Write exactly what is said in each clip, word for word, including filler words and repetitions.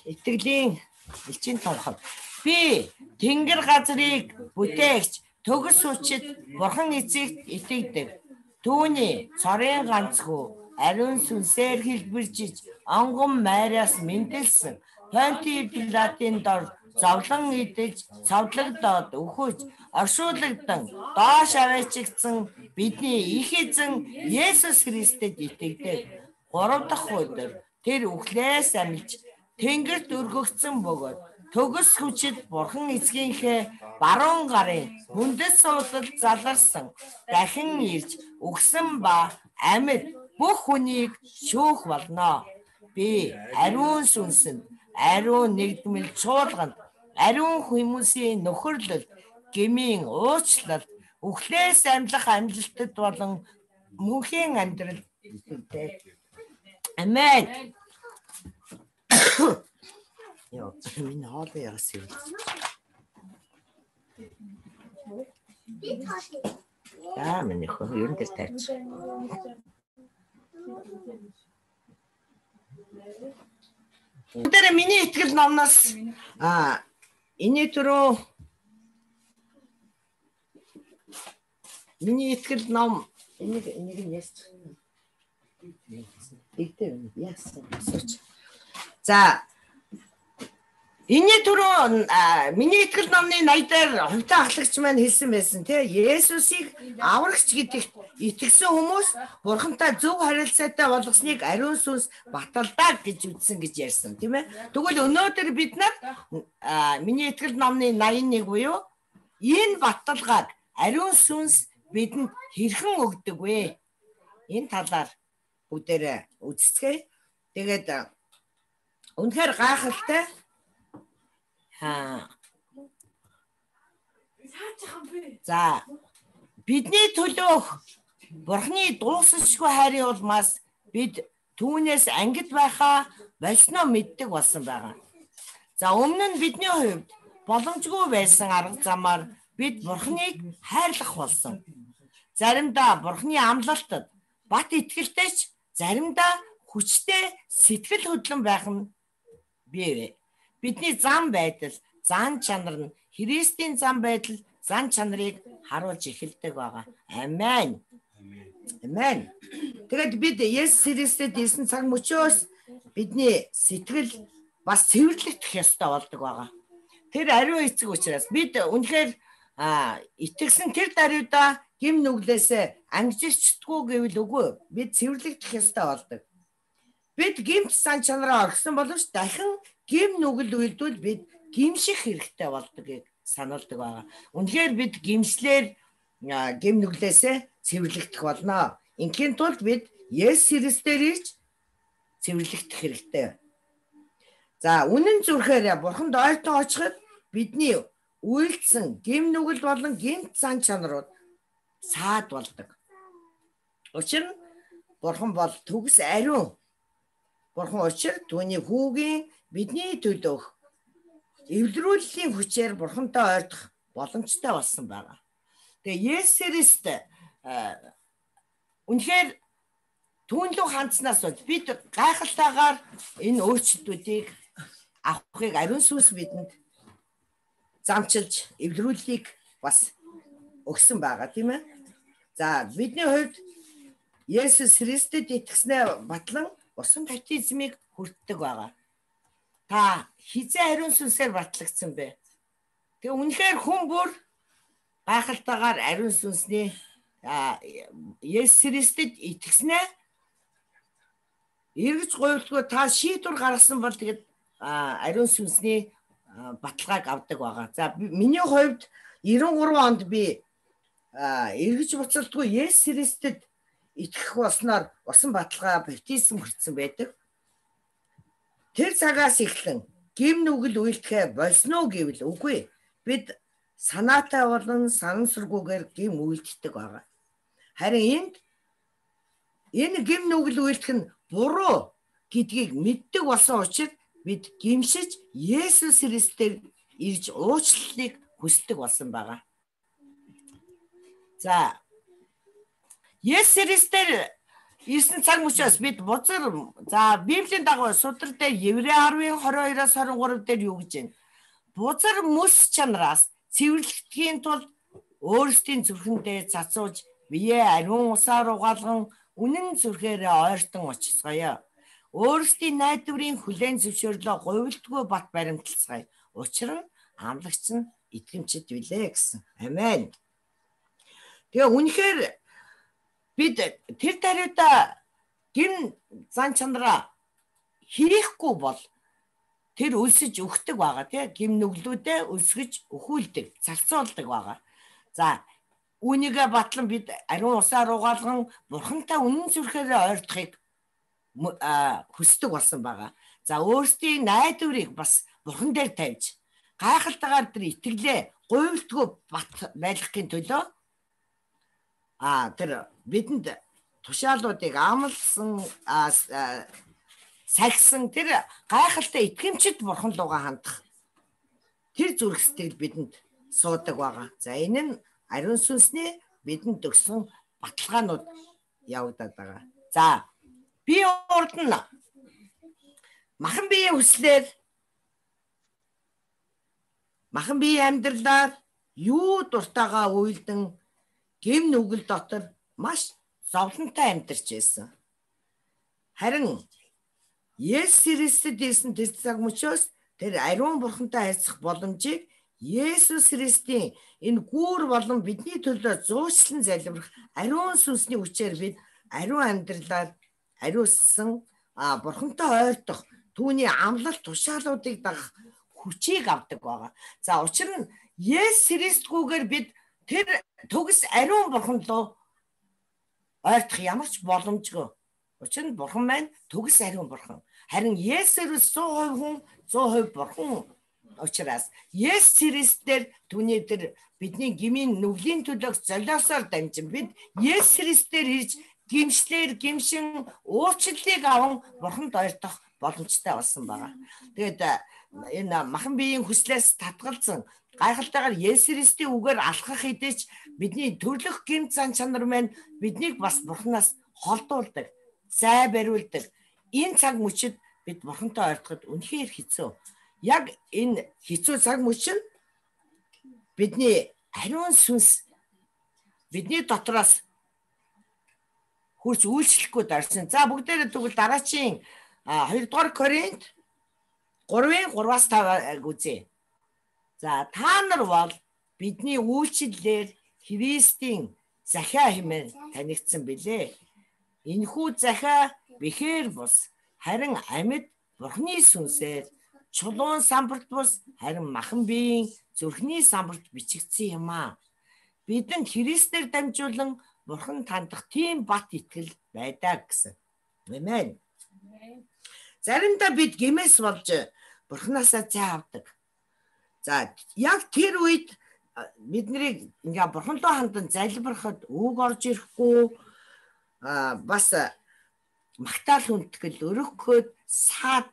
Итгэлийн элчин тунхаг. Би тэнгэр газрыг бүтээгч төгс хүчит бурхан эцэгт итгэдэг. Түүний цорын ганцхүү ариун сүнсээр хэлбэржиж онгон майраас мэндэлсэн Понти Пилатын дор зовлон идэж цавдлагдаад өхөж оршуулгдан доош аваачигдсан бидний их эзэн Есүс Христэд итгэдэг. Гурав дахь өдөр тэр үхлээс амилж тэнгэрт өргөгдсөн бөгөөд төгс хүчит бурхан эцгийнхээ баруун гарын хүндэс суудалд заларсан дахин ирж өгсөн ба амьд бүх хүнийг шүүх болно. Би ариун сүнсэнд ариун нэгдмэл чуулганд ариун хүмүүсийн нөхөрлөлд гмийн уучлалд үхлээс амьлах амжилтад болон мөнхийн амьдрал итгэдэг. Амен. Яа, миний хоол яас юм. Аа, миний хоол юу нэр тавьчих. Тэр миний итгэл номноос аа энэ түрүү миний итгэл ном энийг энийг яс. Игтэй яс. За энэ түрүү миний итгэл номны наяа дээр хувьтай ахлагч маань хэлсэн байсан тий Есүсийг аврагч гэдэгт итгэсэн хүмүүс бурхантай зөв харилцаатай болгосныг ариун сүнс баталдаг гэж үзсэн гэж ярьсан тийм ээ. Тэгвэл өнөөдөр бид нар миний итгэл номны наяа нэг буюу энэ баталгааг ариун сүнс бидэнд хэрхэн өгдөг вэ? Энэ талаар бүгдээрээ үзцгээе. Тэгээд үнэхээр гайхалтай. Аа. За бидний төлөөх Бурхны дуусахгүй хайрын улмаас бид түүнээс ангид байхаа болсноо мэддэг болсон байгаа. За өмнө нь бидний хувьд боломжгүй байсан арга замаар бид Бурхныг хайрлах болсон. Заримдаа Бурхны амлалтад бат итгэлтэйч заримдаа хүчтэй сэтгэл хөдлөн байх нь бий. Бидний зам байдал, зан чанар нь Христийн зам байдал, зан чанарыг харуулж эхэлдэг байгаа. Амен. Амен. Тэгээд бид Есүс Христэд ирсэн цаг мөчөөс бидний сэтгэл бас цэвэрлэгдэх ёстой болдог байгаа. Тэр ариун эцэг учраас бид үнэхээр итгэсэн тэр даруйда гим нүглээсээ ангижчихдгүй гэвэл үгүй. Бид цэвэрлэгдэх ёстой болдог. Бид гимт сан чанараа орхисон боловч дахин гим нүгэл үйлдвэл бид гимших хэрэгтэй болдгийг сануулдаг байгаа. Үнэхээр бид гимслэр гим нүглээсээ цэвэрлэгдэх болно. Инхийн тулд бид Есүс Христээр ирж цэвэрлэгдэх хэрэгтэй. За үнэн зүрхээр Бурханд ойртон очиход бидний үйлдсэн гим нүгэл болон гимт сан чанарууд саад болдог. Учир нь Бурхан бол төгс ариун. Бурхан учир түүний хүүгийн бидний төлөөх эвлэрүүллийн хүчээр Бурхантай ойртох боломжтой болсон байгаа. Тэгээ Есүс Христ үнэхээр түүнлүү хандснаас бол бид гайхалтайгаар энэ өөрчлөлтүүдийг авахыг ариун сүнс бидэнд замчилж эвлэрүүллийг бас өгсөн байгаа тийм ээ. За бидний хувьд Есүс Христэд итгэснээр батлан усан баптизмыг хүртдэг байгаа. Та хизээ ариун сүнсээр батлагдсан бэ? Тэгээ үнэхээр хүн бүр гайхалтайгаар ариун сүнсний Есүс Христэд итгэснээр эргэж гуйлдгүй та шийдвэр гаргасан бол тэгээд ариун сүнсний баталгааг авдаг байгаа. За миний хувьд девяносто гурван онд би эргэж буцалтгүй Есүс Христэд итгэх болсноор усан баталгаа баптизм хүртсэн байдаг. Тэр цагаас эхлэн гим нүгэл үйлдэхэ болно гэвэл үгүй. Бид санаатай болон санамсаргүйгээр гим үйлддэг байгаа. Харин энд энэ гим нүгэл үйлдэх нь буруу гэдгийг мэддэг болсон учраас бид гимшиж Есүс Христээр ирж уучлалыг хүсдэг болсон байгаа. За Есүс Христээр ирсэн цаг мөчөөс бид бузар за Библийн дагуу судар дээр Еврей ten twenty-two-аас twenty-three дээр юу гэж байна? Бузар мөс чанараас цэвэрлэхдгийн тулд өөрсдийн зүрхэндээ цацууж биеэ ариун усаар угаалган үнэн зүрхээрээ ойртон очисгоё. Өөрсдийн найдварын хүлээн зөвшөөрлөө говьлтгүй бат баримталцгаая. Учир нь амлагч нь итгэмжид билээ гэсэн. Амен. Тэгээ үнэхээр бид тэр тариута гин зан чанараа хийхгүй бол тэр өлсөж өгдөг байгаа тий гим нүглүүдээ өлсгөж өхүүлдэг, цалцуулдаг байгаа. За үүнийгээ батлан бид ариун усаар угаалган бурхантай үнэн зүрхээрээ ойртохыг хүсдэг болсон байгаа. За өөрсдийн найдварыг бас бурхан дээр тавьж гайхалтайгаар тэр итгэлээ говьлтгүй бат байлгахын төлөө а тэр бидэнд тушаалуудыг амлсан сахисан тэр гайхалтай итгэмжид бурхан руугаа хандах тэр зүрх сэтгэл бидэнд суудаг байгаа. За энэ нь ариун сүнсний бидэнд өгсөн баталгаанууд явагдаад байгаа. За би урд нь махан биеийн хүслээр махан биеийн амьдралаар юу дуртайгаа уйлдан гим нүгэл дотор маш зовлонтой амьдарч байсан. Харин Есүс Христэд ирсэн тэр цаг мөчөөс тэр ариун бурхантай харьцах боломжийг Есүс Христийн энэ гүүр болон бидний төлөө зуучлан залбирах ариун сүнсний хүчээр бид ариун амьдралаар ариуссан бурхантай ойртох түүний амлалт тушаалуудыг дагах хүчийг авдаг байгаа. За учир нь Есүс Христгүйгээр бид тэр төгс ариун бурхан руу ойртох ямар ч боломжгүй. Учир нь бурхан маань төгс ариун бурхан. Харин Есүс one hundred percent хүн one hundred percent бурхан учраас Есүс Христээр түүний тэр бидний гмийн нүглийн төлөөх золиосоор дамжин бид Есүс Христээр ирж гимшлэр гимшин уучлалыг аван бурханд ойртох боломжтой болсон байгаа. Тэгээд энэ махан биеийн хүслээс татгалзсан гайхалтайгаар Есүс Христийн үгээр алхах хэдэж бидний төрлөх гэмт зан чанар маань биднийг бас бурханаас холдуулдаг, зай бариулдаг. Энэ цаг мөчид бид бурхантай ойртоход үнэхээр хэцүү. Яг энэ хэцүү цаг мөч нь бидний ариун сүнс бидний дотроос хурц үйлчлэхгүй дарсан. За бүгдээрээ тэгвэл дараачийн two дугаар Коринт three three-аас five үзье. За та нар бол бидний үйлчлэлээр Христийн захиа хэмээн танигдсан билээ. Энэхүү захиа бэхээр бус харин амьд бурхны сүнсээр чулуун самбарт бус харин махан биеийн зүрхний самбарт бичигдсэн юм аа. Бидэнд Христээр дамжуулан бурхан тандах тийм бат итгэл байдаг гэсэн. Амен. Заримдаа бид гэмээс болж бурхнаасаа зай авдаг. За яг тэр үед бидний ингээ бурхан руу хандан залбирахад үг орж ирэхгүй бас магтаал хүндэтгэл өрөхөд саад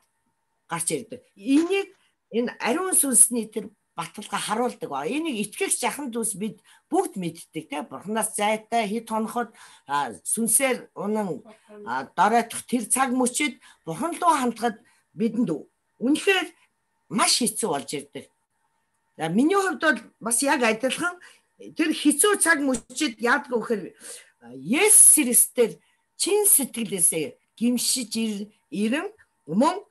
гарч ирдэг. Энийг энэ ариун сүнсний тэр баталгаа харуулдаг ба энийг итгэгч жахан дүүс бид бүгд мэддэг те бурханаас зайтай хэд хоноход сүнсээр унан доройтох тэр цаг мөчид бурхан руу хандахад бидэнд үнэхээр маш хэцүү болж ирдэг. За миний хувьд бол бас яг адилхан тэр хэцүү цаг мөчид яадаг вэхээр Есүс Христээр чин сэтгэлээсээ гимшиж ирэн мөн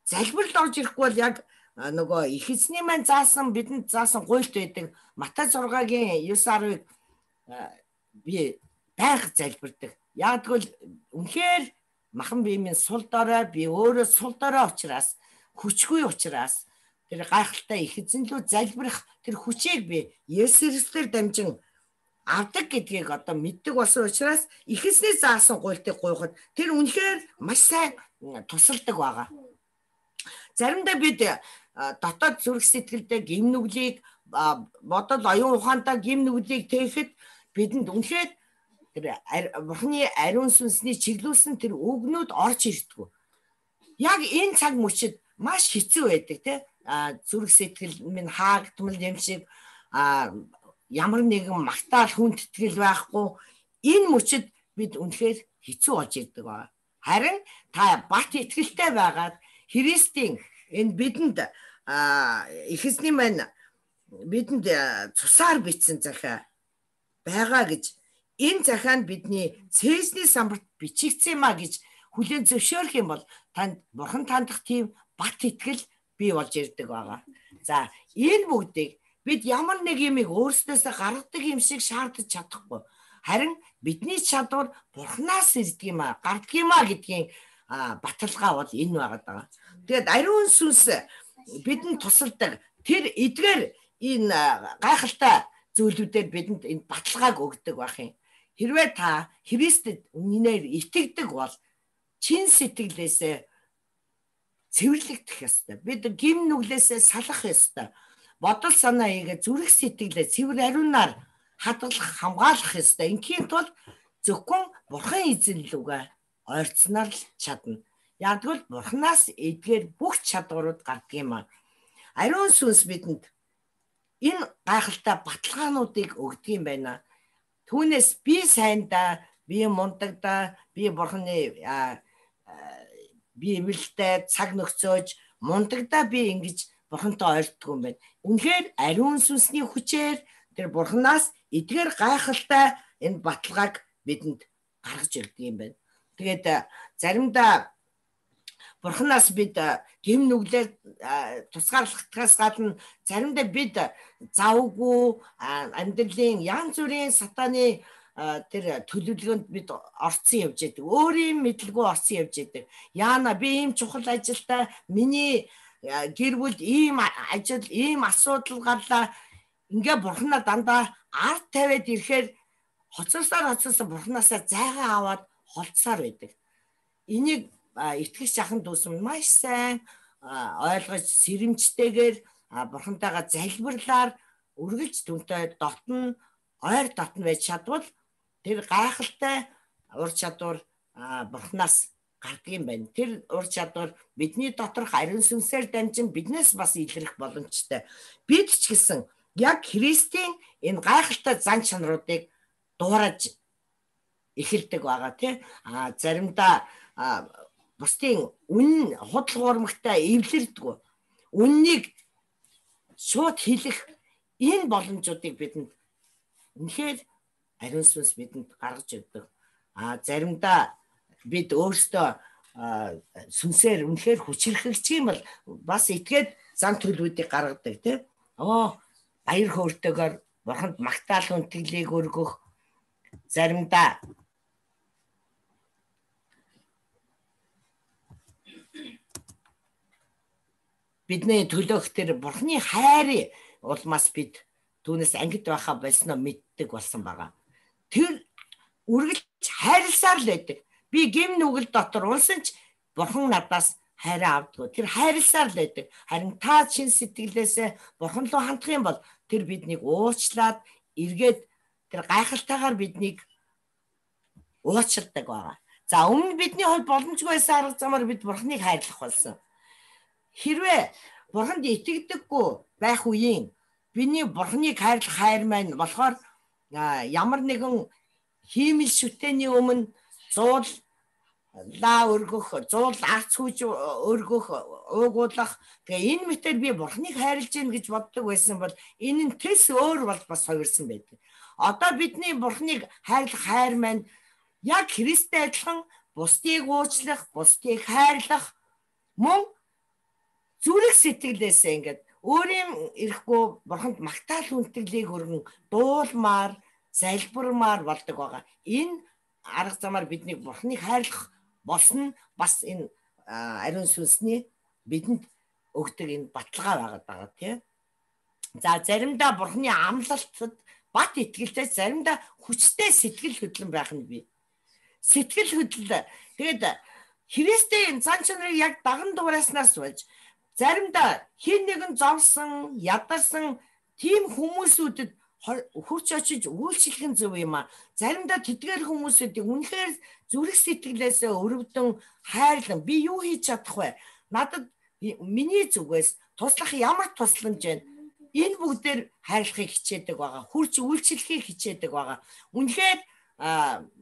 залбиралд орж ирэхгүй бол яг нөгөө их эзний маань заасан бидэнд заасан гуйлт байдаг Матай six-гийн nine ten-ыг би байнга залбирдаг. Яг тэгвэл үнэхээр махан биемийн сул дорой би өөрөө сул дорой учраас хүчгүй учраас тэр гайхалтай их эзэн лүү залбирах тэр хүчийг би Есүс Христээр дамжин авдаг гэдгийг одоо мэддэг болсон учраас их эзний заасан гуйлтыг гуйхад тэр үнэхээр маш сайн тусалдаг байгаа. Заримдаа бид дотоод зүрх сэтгэлдээ гим нүглийг бодол оюун ухаантай гим нүглийг тээхэд бидэнд үнэхээр тэр бурхны ариун сүнсний чиглүүлсэн тэр үгнүүд орж ирдэг. Яг энэ цаг мөчид маш хэцүү байдаг те зүрх сэтгэл минь хаагдмал юм шиг ямар нэгэн магтаал хүндэтгэл байхгүй энэ мөчид бид үнэхээр хэцүү болж ирдэг байна. Харин та бат итгэлтэй байгаад Христийн энэ бидэнд эхэсний маань бидэнд цусаар бичсэн захиа байгаа гэж энэ захианд бидний цээжний самбарт бичигдсэн юм а гэж хүлээн зөвшөөрөх юм бол танд бурхан тандах тийм бат итгэл бий болж ирдэг байгаа. За энэ бүгдийг бид ямар нэг юмыг өөрснөөсөө гаргадаг юм шиг шаардаж чадахгүй. Харин бидний чадвар бурханаас ирдэг юм а, гардаг юм а гэдгийн баталгаа бол энэ байгаад байгаа. Тэгээд ариун сүнс бидэнд тусалдаг тэр эдгээр энэ гайхалтай зүйлүүдээр бидэнд энэ баталгааг өгдөг байх юм. Хэрвээ та Христэд үнэнээр итгэдэг бол чин сэтгэлээсээ цэвэрлэгдэх ёстой. Бид гим нүглээсээ салах ёстой. Бодол санаа ийгээ зүрх сэтгэлээ цэвэр ариунаар хадгалах, хамгаалах ёстой. Инхийн тулд зөвхөн бурхан эзэн лүгээ ойрцноор л чадна. Ягдвал бурханаас эдгээр бүх чадварууд гардаг юм аа. Ариун сүнс бидэнд энэ гайхалтай баталгаануудыг өгдөг юм байна. Түүнээс би сайндаа, би мундагдаа, би бурханы би эвэлтэй цаг нөхцөөж мундагдаа би ингэж бурхантай ойртдог юм байна. Үнэхээр ариун сүнсний хүчээр тэр бурханаас эдгээр гайхалтай энэ баталгааг бидэнд гаргаж ирдэг юм байна. Тэгээд заримдаа бурханаас бид гэм нүглээр тусгаарлахдаас гадна заримдаа бид завгүй амьдралын янз бүрийн сатаны тэр төлөвлөгөөнд бид орцсон явж байдаг. Өөрийн мэдлгүй орцсон явж байдаг. Яана би ийм чухал ажилдаа миний гэр бүл ийм ажил, ийм асуудал гарлаа. Ингээ бурханаа дандаа ард тавиад ирэхээр хоцорсоор хоцорсоо бурханаасаа зайгаа аваад холдсоор байдаг. Энийг итгэж ахын дүүс нь маш сайн ойлгож сэрэмжтэйгээр бурхантайгаа залбирлаар үргэлж түнтэй дотн ойр дотн байж чадвал тэр гайхалтай ур чадвар бурханаас гардаг юм байна. Тэр ур чадвар бидний доторх ариун сүнсээр дамжин биднээс бас илрэх боломжтой. Бид ч гэсэн яг Христийн энэ гайхалтай зан чанаруудыг дуурайж эхэлдэг байгаа тийм. А заримдаа бусдын үн худал хуурмагтай эвлэрдэггүй. Үннийг шууд хэлэх энэ боломжуудыг бидэнд үнэхээр ариун сүнс бидэнд гаргаж өгдөг. А заримдаа бид өөрсдөө сүнсээр үнэхээр хүчрхэгчих юм бол бас итгээд зан төлөвүүдийг гаргадаг тийм. Оо баяр хөөртэйгээр бурханд магтаал хүндэглийг өргөх, заримдаа бидний төлөөх тэр бурхны хайрын улмаас бид түүнээс ангид байхаа болсноо мэддэг болсон байгаа. Тэр үргэлж хайрласаар л байдаг. Би гэм нүгэл дотор унсан ч бурхан надаас хайраа авдаг. Тэр хайрласаар л байдаг. Харин та чин сэтгэлээсээ бурхан руу хандах юм бол тэр биднийг уучлаад эргээд тэр гайхалтайгаар биднийг уучладаг байгаа. За өмнө бидний хувьд боломжгүй байсан арга замаар бид бурханыг хайрлах болсон. Хэрвээ бурханд итгэдэггүй байх үеийн биний бурханыг хайрлах хайр маань болохоор ямар нэгэн хиймэл шүтээний өмнө зуул лаа өргөх, зуул арц хүж өргөх, уугуулах. Тэгээ энэ мэтэр би бурханыг хайрлаж гин гэж боддог байсан бол энэ нь тэс өөр бол бас хувирсан байдаг. Одоо бидний бурханыг хайрлах хайр маань яг Христтэй адилхан бусдыг уучлах, бусдыг хайрлах мөн зүрх сэтгэлээсээ ингээд өөрийн ирэхгүй бурханд магтаал хүндэглийг өргөн дуулмаар, залбирмаар болдог байгаа. Энэ арга замаар бидний бурханыг хайрлах болсон бас энэ ариун сүнсний бидэнд өгдөг энэ баталгаа байгаа тийм. За заримдаа бурханы амлалтад бат итгэлтэй, заримдаа хүчтэй сэтгэл хөдлөн байх нь бий. Сэтгэл хөдлөл тэгээд Христийн зан чанарыг яг даган дуурайснаас болж заримдаа хин нэгэн зовсон, ядарсан тийм хүмүүсүүдэд хурц очиж үйлчлэх нь зөв юм а. Заримдаа тэдгээр хүмүүсүүдийг үнэхээр зүрх сэтгэлээсээ өрөвдөн хайрлан би юу хийж чадах вэ? Надад миний зүгээс туслах ямар тусламж байна? Энэ бүгдээр хайрлахыг хичээдэг байгаа. Хурц үйлчлэхийг хичээдэг байгаа. Үнэхээр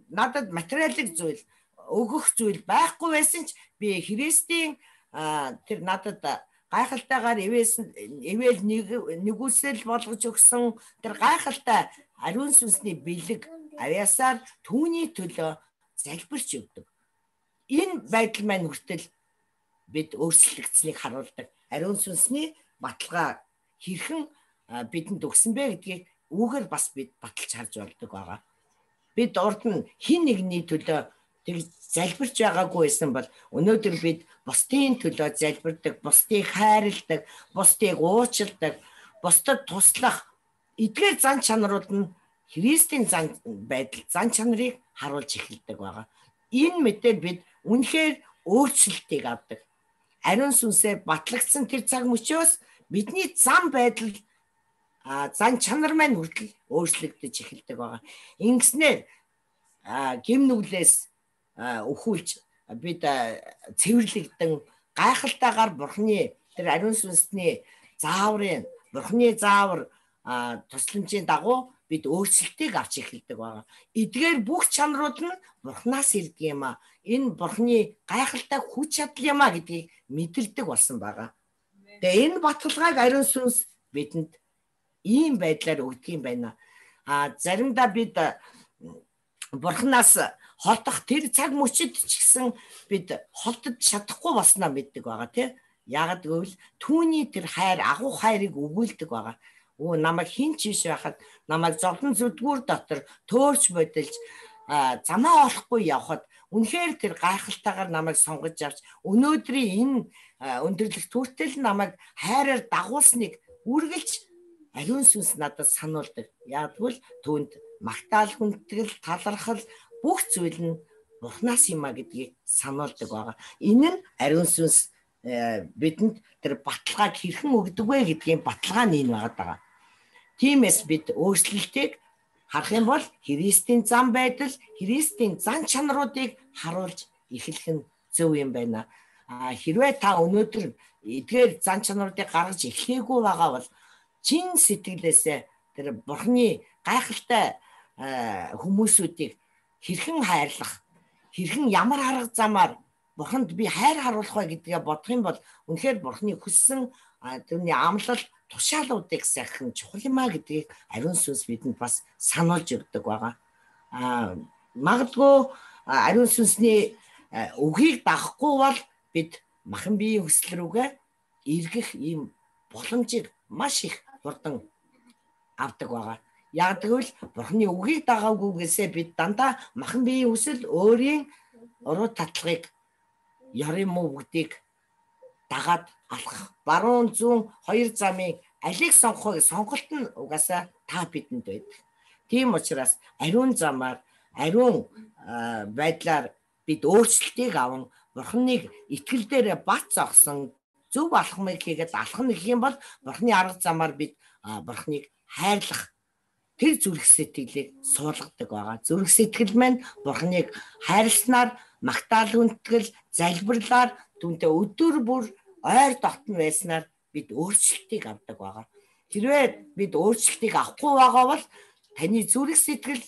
надад материалын зүйл өгөх зүйл байхгүй байсан ч би Христийн тэр надад гайхалтайгаар ивээс ивэл нэг нэгүсэл болгож өгсөн тэр гайхалтай ариун сүнсний бэлэг авьяасаар түүний төлөө залбирч өгдөг. Энэ байдал маань хүртэл бид өөрчлөгдсөнийг харуулдаг. Ариун сүнсний баталгаа хэрхэн бидэнд өгсөн бэ гэдгийг үүгээр бас бид баталж харж болдог байгаа. Бид урд нь хин нэгний төлөө тэг залбирч байгаагүй байсан бол өнөөдөр бид бусдын төлөө залбирдаг, бусдыг хайрладаг, бусдыг уучладаг, бусдад туслах эдгээр зан чанарууд нь Христийн зан байдал, зан чанарыг харуулж эхэлдэг байгаа. Энэ мэтэл бид үнэхээр өөрчлөлтийг авдаг. Ариун сүнсээр батлагдсан тэр цаг мөчөөс бидний зан байдал, зан чанар маань хүртэл өөрчлөгдөж эхэлдэг байгаа. Ингэснээр гим нүглээс өхүүлж бид цэвэрлэгдэн гайхалтайгаар Бурхны тэр ариун сүнсний зааврын, Бурхны заавар тусламжийн дагуу бид өөрчлөлтийг авч эхэлдэг байгаа. Эдгээр бүх чанарууд нь Бурхнаас ирдэг юм а. Энэ Бурхны гайхалтай хүч чадал юм а гэдгийг мэдэрдэг болсон байгаа. Тэгээ энэ баталгааг ариун сүнс бидэнд ийм байдлаар өгдөг юм байна. А заримдаа бид Бурхнаас холдох тэр цаг мөчид ч гэсэн бид холдож чадахгүй болсноо мэддэг байгаа тийм. Яагад гэвэл түүний тэр хайр, агуу хайрыг өгүүлдэг байгаа. Оо намайг хин ч биш байхад намайг зовлон зүдгүүр дотор төөрч бодилж замаа олохгүй явхад үнэхээр тэр гайхалтайгаар намайг сонгож авч өнөөдрийн энэ өндөрлөх түүтэл намайг хайраар дагуулсныг үргэлж ариун сүнс надад сануулдаг. Ягдвал түүнд магтаал, хүндэтгэл, талархал бүх зүйл нь Бурхнаас юм а гэдгийг сануулдаг байгаа. Энэ нь ариун сүнс бидэнд тэр баталгааг хэрхэн өгдөг вэ гэдгийн баталгаа нь энэ байгаа. Тиймээс бид өөрчлөлтийг харах юм бол Христийн зан байдал, Христийн зан чанаруудыг харуулж эхлэх нь зөв юм байна. А хэрвээ та өнөөдөр эдгээр зан чанаруудыг гаргаж эхлэегүй байгаа бол чин сэтгэлээсээ тэр Бурхны гайхалтай хүмүүсүүдийг хэрхэн хайрлах, хэрхэн ямар арга замаар Бурханд би хайр харуулах вэ гэдгээ бодох юм бол үнэхээр Бурхны хүссэн тэрний амлал тушаалуудыг сайхан чухал юм а гэдгийг ариун сүнс бидэнд бас сануулж өгдөг байгаа. А магадгүй ариун сүнсний үгийг дагахгүй бол бид махан биеийн хүсэл рүүгээ эргэх ийм боломжийг маш их хурдан авдаг байгаа. Яг тэгвэл Бурхны үгийг дагаагүйгээсээ бид дандаа махан биеийн хүсэл өөрийн уруу татлагыг ярим муу бүгдийг дагаад алхах баруун зүүн хоёр замыг алийг сонгохыг сонголт нь угаасаа та бидэнд байдаг. Тийм учраас ариун замаар ариун байдлаар бид өөрчлөлтийг аван Бурхныг итгэл дээр бат зогсон зөв алхмыг хийгээд алхах гэх юм бол Бурхны арга замаар бид Бурхныг хайрлах тэр зүрх сэтгэлийг суулгадаг байгаа. Зүрх сэтгэл маань Бурхныг хайрласнаар магтаал хүндэтгэл залбирлаар түүнтэй өдөр бүр ойр дотн байснаар бид өөрчлөлтийг авдаг байгаа. Хэрвээ бид өөрчлөлтийг авахгүй байгаа бол таны зүрх сэтгэл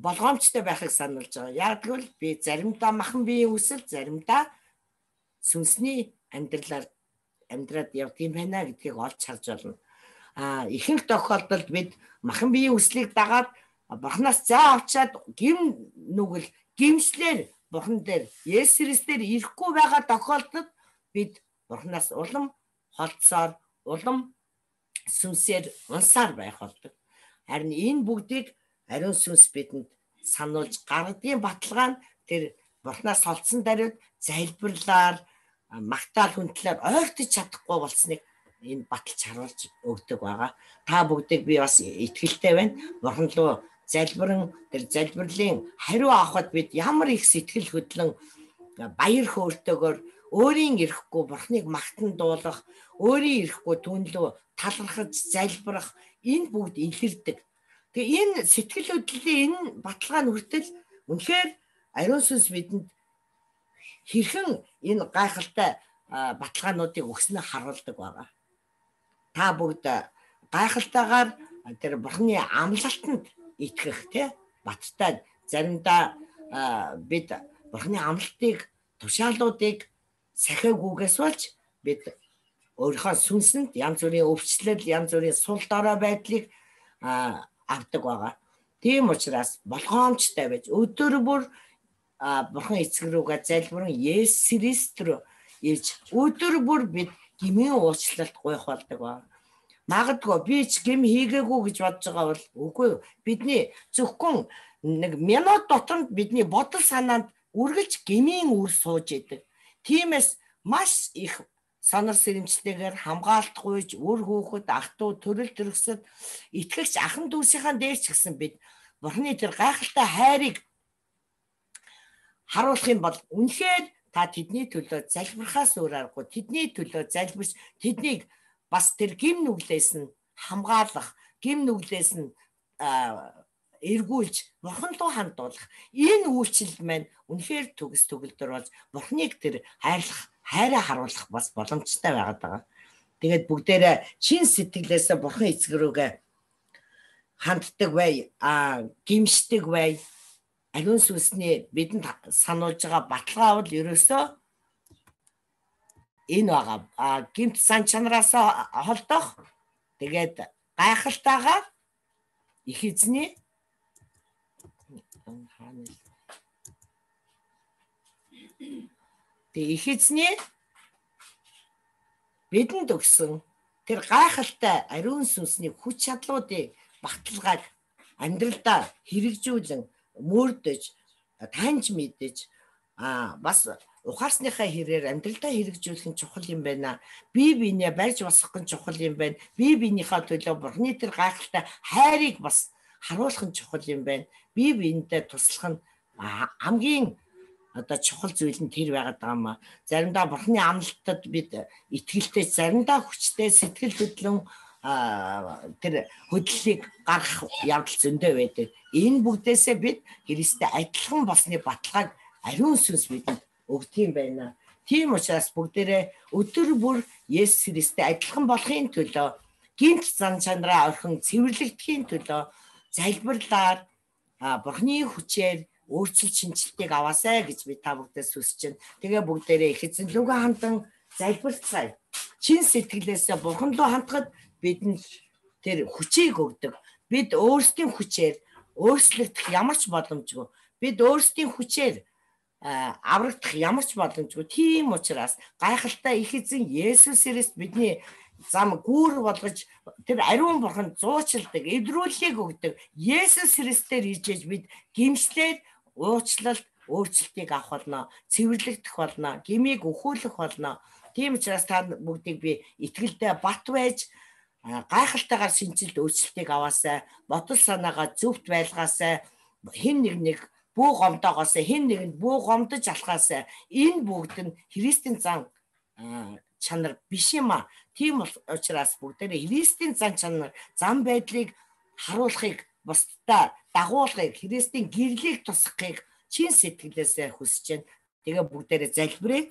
болгоомжтой байхыг сануулж байгаа. Яг тэгвэл би заримдаа махан биеийн үсэл, заримдаа сүнсний амьдралаар амьдраад явдгийм байна гэдгийг олж харж байна. А ихэнх тохиолдолд бид махан биеийн үслийг дагаад Бурхнаас заа авчаад гим нүгэл гимслэр Бурхан дээр Есүс Христээр ирэхгүй байгаа тохиолдолд бид Бурхнаас улам холдсоор, улам сүнсээр унсаар байх болдог. Харин энэ бүгдийг ариун сүнс бидэнд сануулж гаргадгийн баталгаа нь тэр Бурхнаас холдсон даруйд залбирлаар, магтаал хүндлээр ойртож чадахгүй болсныг энэ баталж харуулж өгдөг байгаа. Та бүгдийг би бас итгэлтэй байна. Бурхан руу залбирэн тэр залбирлын хариу авахд бид ямар их сэтгэл хөдлөн баяр хөөртэйгээр өөрийн ирэхгүй Бурхныг магтан дуулах, өөрийн ирэхгүй түүнлөө талархаж залбирах энэ бүгд илэрдэг. Тэгээ энэ сэтгэл хөдлөлийн энэ баталгаа нь хүртэл үнэхээр ариун сүнс бидэнд хэрхэн энэ гайхалтай баталгаануудыг өгснөө харуулдаг байгаа. Та бүгд гайхалтайгаар тэр Бурхны амлалтанд итгэх тий баттай заримдаа бид Бурхны амлалтыг тушаалуудыг сахиагүйгээс болж бид өөрийнхөө сүнсэнд янз бүрийн өвчлөл, янз бүрийн сул дорой байдлыг авдаг байгаа. Тийм учраас болгоомжтой байж өдөр бүр Бурхан эцэг рүүгээ залбирэн Есүс Христ рүү ирж өдөр бүр бид гмийн уучлалт гуйх болдог ба. Магадгүй би ч гм хийгээгүй гэж бодож байгаа бол үгүй бидний зөвхөн нэг минут дотор бидний бодол санаанд үргэлж гмийн үр сууж идэг. Тиймээс маш их сонор сэрэмжтэйгээр хамгаалт гуйж үр хүүхэд ах トゥ төрөл төрөсөд итгэгч ахан дүүсийнхаа дээр ч гэсэн бид Бурхны тэр гайхалтай хайрыг харуулах юм бол үнэхээр та тэдний төлөө залбирхаас өөр аргагүй тэдний төлөө залбирч тэднийг бас тэр гим нүглээс нь хамгаалах, гим нүглээс нь эргүүлж Бурхан руу хандуулах энэ үйлчлэл маань үнэхээр төгс төгөлдөр болж Бурхныг тэр хайрлах, хайраа харуулах бас боломжтой байгаад байгаа. Тэгээд бүгдээрээ чин сэтгэлээс Бурхан эцэг рүүгээ ханддаг бай, а гимшдэг бай. Ариун сүнсний бидэнд сануулж байгаа баталгаа бол ерөөсөө энэ байгаа. А гимт сан чанараас холдох тэгээд гайхалтайгаар их эзний тэг их эзний бидэнд өгсөн тэр гайхалтай ариун сүнсний хүч чадлуудыг баталгааг амьдралдаа хэрэгжүүлэн мөрдөж таньж мэдэж а бас ухаарсныхаа хэрээр амьдралдаа хэрэгжүүлэх нь чухал юм байна. Бие биенээ барьж босгох нь чухал юм байна. Бие биенийхээ төлөө Бурхны тэр гайхалтай хайрыг бас харуулах нь чухал юм байна. Бие биенээ туслах нь хамгийн одоо чухал зүйл нь тэр байгаад байгаа юм а. Заримдаа Бурхны амлалтад бид итгэлтэй, заримдаа хүчтэй, сэтгэл хөдлөн тэр хөдлөлийг гаргах явдал зөндөө байдаг. Энэ бүгдээсээ бид Христтэй адилхан болсны баталгааг ариун сүнс бидэнд өгдөг юм байна. Тийм учраас бүгдээрээ өдөр бүр Есүс Христтэй адилхан болохын төлөө гинт зан чанараа орхин цэвэрлэгдэхийн төлөө залбирлаар Бурхны хүчээр өөрчлөлт шинжилтийг аваасай гэж би та бүгдээс хүсэж байна. Тэгээ бүгдээрээ их эзэн лүгэн хандан залбирцгаая. Чин сэтгэлээсээ Бурхан руу хандхад бидэнд тэр хүчийг өгдөг. Бид өөрсдийн хүчээр өөрчлөгдөх ямар ч боломжгүй. Бид өөрсдийн хүчээр аврагдах ямар ч боломжгүй. Тийм учраас гайхалтай их эзэн Есүс Христ бидний зам гүүр болгож тэр ариун Бурхан зуучилдаг, эвдрүүлгийг өгдөг. Есүс Христээр иржээж бид гимслээд уучлалт, өөрчлөлтийг авах болно, цэвэрлэгдэх болно, гмийг өхүүлэх болно. Тийм учраас та бүгдийг би итгэлдээ бат байж гайхалтайгаар шинжилт өөрчлөлтийг аваасай, бодол санаагаа зөвхт байлгаасай, хэн нэг нэг бүү гомдоогоос хэн нэгэнд бүү гомдож алхаасай. Энэ бүгд нь Христийн зан чанар биш юм а. Тийм учраас бүгдээрээ Христийн зан чанар, зам байдлыг харуулахыг, бусдад дагуулахыг, Христийн гэрлийг тусгахыг чин сэтгэлээсээ хүсэж байна. Тэгээ бүгдээрээ залбирая.